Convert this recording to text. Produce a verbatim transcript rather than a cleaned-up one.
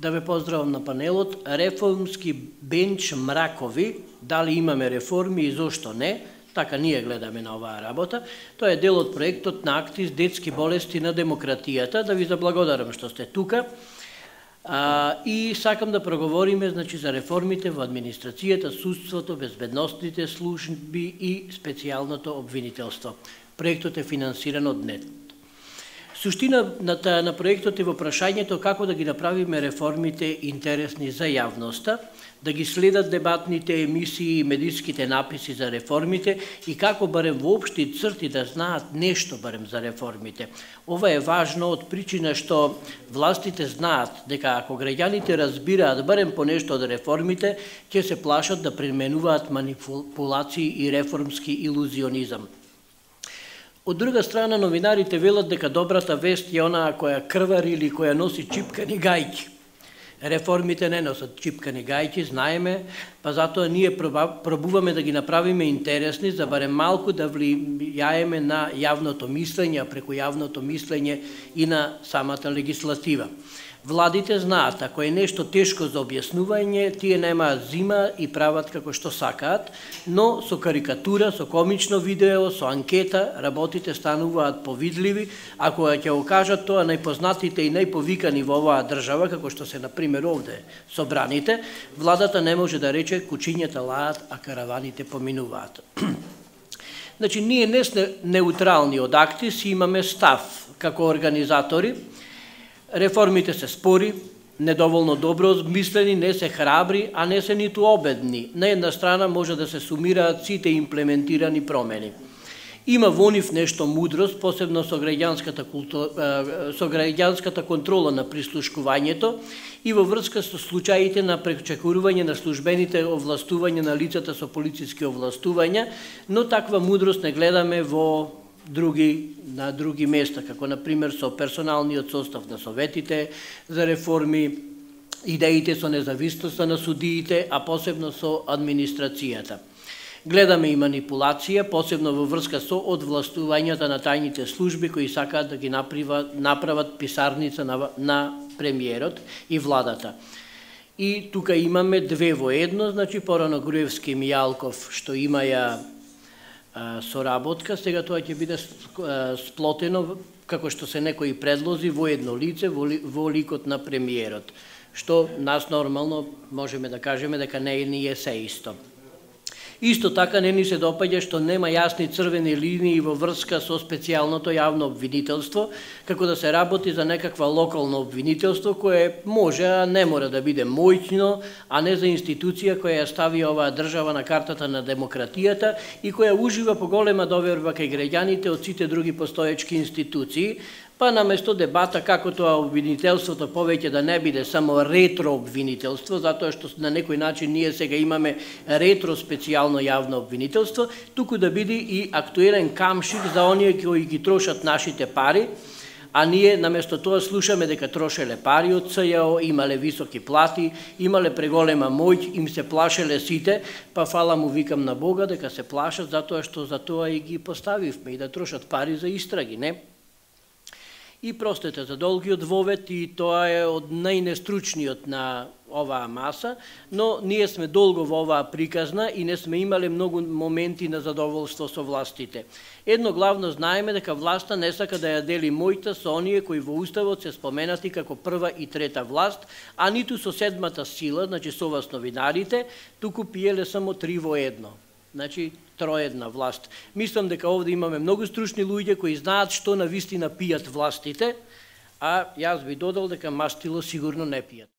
Да ве поздравам на панелот. Реформски бенч мракови, дали имаме реформи и зошто не, така ние гледаме на оваа работа. Тоа е дел од проектот на Актис детски болести на демократијата. Да ви заблагодарам што сте тука. А, и сакам да проговориме значи, за реформите во администрацијата, судството, безбедностните служби и специјалното обвинителство. Проектот е финансиран од НЕТ. Суштината на проектот е во прашањето како да ги направиме реформите интересни за јавноста, да ги следат дебатните емисии и медиските написи за реформите и како барем во општи црти да знаат нешто барем за реформите. Ова е важно од причина што властите знаат дека ако граѓаните разбираат барем по нешто од реформите, ќе се плашат да применуваат манипулации и реформски илузионизам. Од друга страна, новинарите велат дека добрата вест е онаа која крвари или која носи чипкани гајки. Реформите не носат чипкани гајки, знаеме, па затоа ние пробуваме да ги направиме интересни, за барем малку да влијаеме на јавното мислење, а преку јавното мислење и на самата легислатива. Владите знаат, ако е нешто тешко за објаснување, тие немаат зима и прават како што сакаат, но со карикатура, со комично видео, со анкета, работите стануваат повидливи, ако ќе го кажат тоа најпознатите и најповикани во оваа држава, како што се, например, овде собраните, владата не може да рече кучињата лаат, а караваните поминуваат. Значи, ние не сме неутрални од Актис, имаме став како организатори. Реформите се спори, недоволно добро мислени, не се храбри, а не се ниту обедни. На една страна може да се сумираат сите имплементирани промени. Има во нив нешто мудрост, посебно со граѓанската, култура, со граѓанската контрола на прислушкувањето и во врска со случаите на пречекорување на службените овластувања на лицата со полициски овластувања, но таква мудрост не гледаме во други на други места, како на пример со персоналниот состав на советите за реформи, идеите со независноста на судиите, а посебно со администрацијата. Гледаме и манипулација, посебно во врска со одвластувањата на тајните служби кои сакаат да ги направат, направат писарница на, на премиерот и владата. И тука имаме две во едно, значи порано Груевски и Мијалков што имаја соработка, сега тоа ќе биде сплотено, како што се некои предлози, во едно лице, во ликот на премиерот, што нас нормално можеме да кажеме дека не е се исто. Исто така не ни се допаѓа што нема јасни црвени линии во врска со специјалното јавно обвинителство, како да се работи за некаква локално обвинителство кое може, а не мора да биде моќно, а не за институција која ја стави оваа држава на картата на демократијата и која ужива поголема доверба кај граѓаните од сите други постоечки институции, па наместо дебата како тоа обвинителството повеќе да не биде само ретро обвинителство, затоа што на некој начин ние сега имаме ретро специјално јавно обвинителство, туку да биде и актуелен камшик за оние кои ги трошат нашите пари, а ние наместо тоа слушаме дека трошеле пари од С Ј О, имале високи плати, имале преголема моќ, им се плашеле сите, па фала му викам на Бога дека се плашат затоа што за тоа и ги поставивме и да трошат пари за истраги, не? И простете за долгиот вовет, и тоа е од најнестручниот на оваа маса, но ние сме долго во оваа приказна и не сме имале многу моменти на задоволство со властите. Едно главно знаеме дека власта не сака да ја дели мојта со оние кои во Уставот се споменати како прва и трета власт, а ниту со седмата сила, значи со вас новинарите, туку пиеле само три во едно. Значи, троедна власт. Мислам дека овде имаме многу стручни луѓе кои знаат што на вистина пијат властите, а јас би додал дека мастило сигурно не пијат.